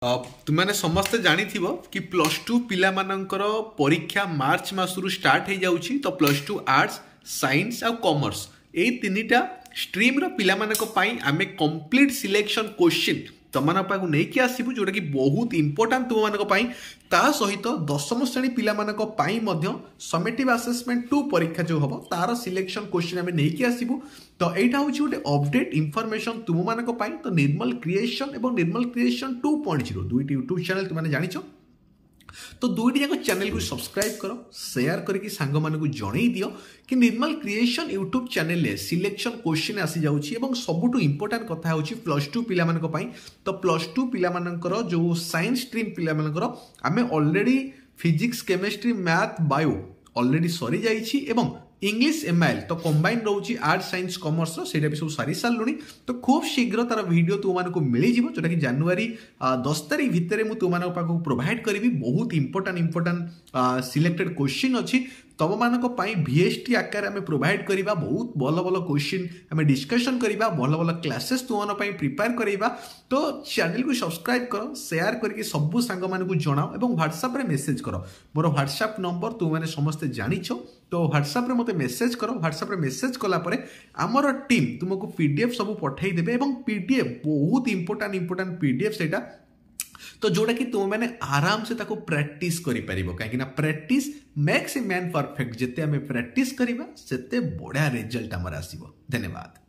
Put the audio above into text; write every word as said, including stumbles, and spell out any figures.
ତୁମେମାନେ ସମସ୍ତେ ଜାଣିଥିବ କି ପ୍ଲସ୍ ଟୁ ପିଲାମାନଙ୍କର ପରୀକ୍ଷା ମାର୍ଚ୍ଚ ମାସରୁ ଷ୍ଟାର୍ଟ ହେଇଯାଉଛି ତ ପ୍ଲସ୍ ଟୁ ଆର୍ଟ୍ସ ସାଇନ୍ସ ଆଉ କମର୍ସ ଏଇ ତିନିଟା ଷ୍ଟ୍ରିମ୍ର ପିଲାମାନଙ୍କ ପାଇଁ ଆମେ କମ୍ପ୍ଲିଟ୍ ସିଲେକ୍ସନ୍ କୋଶ୍ଚିନ୍ ତମମାନଙ୍କ ପାଖକୁ ନେଇକି ଆସିବୁ ଯେଉଁଟାକି ବହୁତ ଇମ୍ପୋର୍ଟାଣ୍ଟ ତୁମମାନଙ୍କ ପାଇଁ ତା ସହିତ ଦଶମ ଶ୍ରେଣୀ ପିଲାମାନଙ୍କ ପାଇଁ ମଧ୍ୟ ସମେଟିଭ୍ ଆସେସମେଣ୍ଟ ଟୁ ପରୀକ୍ଷା ଯେଉଁ ହେବ ତାର ସିଲେକ୍ସନ୍ କୋଶ୍ଚିନ୍ ଆମେ ନେଇକି ଆସିବୁ ତ ଏଇଟା ହେଉଛି ଗୋଟେ ଅପଡେଟ୍ ଇନଫର୍ମେସନ୍ ତୁମମାନଙ୍କ ପାଇଁ ତ ନିର୍ମଲ କ୍ରିଏସନ୍ ଏବଂ Nirmal creation two point zero ଦୁଇଟି ୟୁଟ୍ୟୁବ୍ ଚ୍ୟାନେଲ୍ ତୁମେ ଜାଣିଛ ତ ଦୁଇଟି ଯାକ ଚ୍ୟାନେଲକୁ ସବସ୍କ୍ରାଇବ୍ କର ସେୟାର କରିକି ସାଙ୍ଗମାନଙ୍କୁ ଜଣେଇ ଦିଅ କି ନିର୍ମଲ କ୍ରିଏସନ୍ ୟୁଟ୍ୟୁବ୍ ଚ୍ୟାନେଲରେ ସିଲେକ୍ସନ୍ କୋଶ୍ଚିନ୍ ଆସିଯାଉଛି ଏବଂ ସବୁଠୁ ଇମ୍ପୋର୍ଟାଣ୍ଟ କଥା ହେଉଛି ପ୍ଲସ୍ ଟୁ ପିଲାମାନଙ୍କ ପାଇଁ ତ ପ୍ଲସ୍ ଟୁ ପିଲାମାନଙ୍କର ଯେଉଁ ସାଇନ୍ସ ଷ୍ଟ୍ରିମ୍ ପିଲାମାନଙ୍କର ଆମେ already physics chemistry math bio already ସରିଯାଇଛି ଏବଂ ଇଂଲିଶ ଏମ୍ଆଇଏଲ୍ ତ କମ୍ବାଇନ୍ ରହୁଛି ଆର୍ଟ ସାଇନ୍ସ କମର୍ସର ସେଇଟା ବି ସବୁ ସାରି ସାରିଲୁଣି ତ ଖୁବ୍ ଶୀଘ୍ର ତାର ଭିଡ଼ିଓ ତୁମମାନଙ୍କୁ ମିଳିଯିବ ଯେଉଁଟାକି ଜାନୁଆରୀ ଦଶ ତାରିଖ ଭିତରେ ମୁଁ ତୁମମାନଙ୍କ ପାଖକୁ ପ୍ରୋଭାଇଡ଼ କରିବି ବହୁତ ଇମ୍ପୋର୍ଟାଣ୍ଟ ଇମ୍ପୋର୍ଟାଣ୍ଟ ସିଲେକ୍ଟେଡ୍ କୋଶ୍ଚିନ୍ ଅଛି ତମମାନଙ୍କ ପାଇଁ ଭିଏସ୍ଟି ଆକାରରେ ଆମେ ପ୍ରୋଭାଇଡ଼ କରିବା ବହୁତ ଭଲ ଭଲ କୋଶ୍ଚିନ୍ ଆମେ ଡିସ୍କସନ୍ କରିବା ଭଲ ଭଲ କ୍ଲାସେସ୍ ତୁମମାନଙ୍କ ପାଇଁ ପ୍ରିପେୟାର କରାଇବା ତ ଚ୍ୟାନେଲକୁ ସବସ୍କ୍ରାଇବ୍ କର ସେୟାର କରିକି ସବୁ ସାଙ୍ଗମାନଙ୍କୁ ଜଣାଅ ଏବଂ ହ୍ୱାଟ୍ସଆପ୍ରେ ମେସେଜ୍ କର ମୋର ହ୍ୱାଟ୍ସଆପ୍ ନମ୍ବର ତୁମମାନେ ସମସ୍ତେ ଜାଣିଛ ତ ହ୍ୱାଟ୍ସଆପ୍ରେ ମୋତେ ମେସେଜ୍ କର ହ୍ୱାଟ୍ସଆପ୍ରେ ମେସେଜ୍ କଲା ପରେ ଆମର ଟିମ୍ ତୁମକୁ ପି ଡି ଏଫ୍ ସବୁ ପଠାଇ ଦେବେ ଏବଂ ପି ଡି ଏଫ୍ ବହୁତ important important P D F ସେଇଟା ତ ଯେଉଁଟାକି ତୁମେମାନେ ଆରାମସେ ତାକୁ ପ୍ରାକ୍ଟିସ୍ କରିପାରିବ କାହିଁକିନା practice makes a man perfect ଯେତେ ଆମେ ପ୍ରାକ୍ଟିସ୍ କରିବା ସେତେ ବଢ଼ିଆ ରେଜଲ୍ଟ ଆମର ଆସିବ ଧନ୍ୟବାଦ